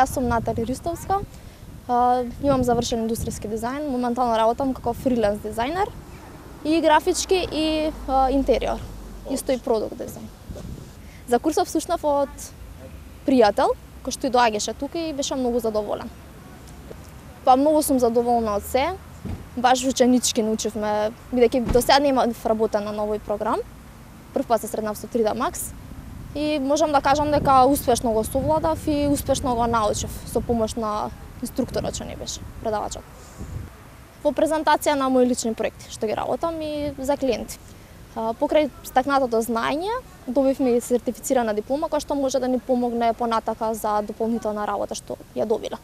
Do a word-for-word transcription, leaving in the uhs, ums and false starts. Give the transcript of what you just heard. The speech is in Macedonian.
Јас сум Натали Ристовска, имам завршен индустријски дизајн, моментално работам како фриленс дизајнер и графички и интериор, исто и продукт дизајн. За курсов слушнав од пријател, кој што и доаѓаше тука и беше многу задоволен. Па многу сум задоволна од се, баш ученички научивме, бидејќи до сега немав работен на новој програм, прв пат се сретнав со три Д Max и можам да кажам дека успешно го совладав и успешно го научив со помош на инструкторот што не беше, предавачот. Во презентација на мои лични проекти што ги работам и за клиенти. Покрај стакнатото знаење, добивме и сертифицирана диплома која што може да ни помогне понатака за дополнителна работа што ја добила.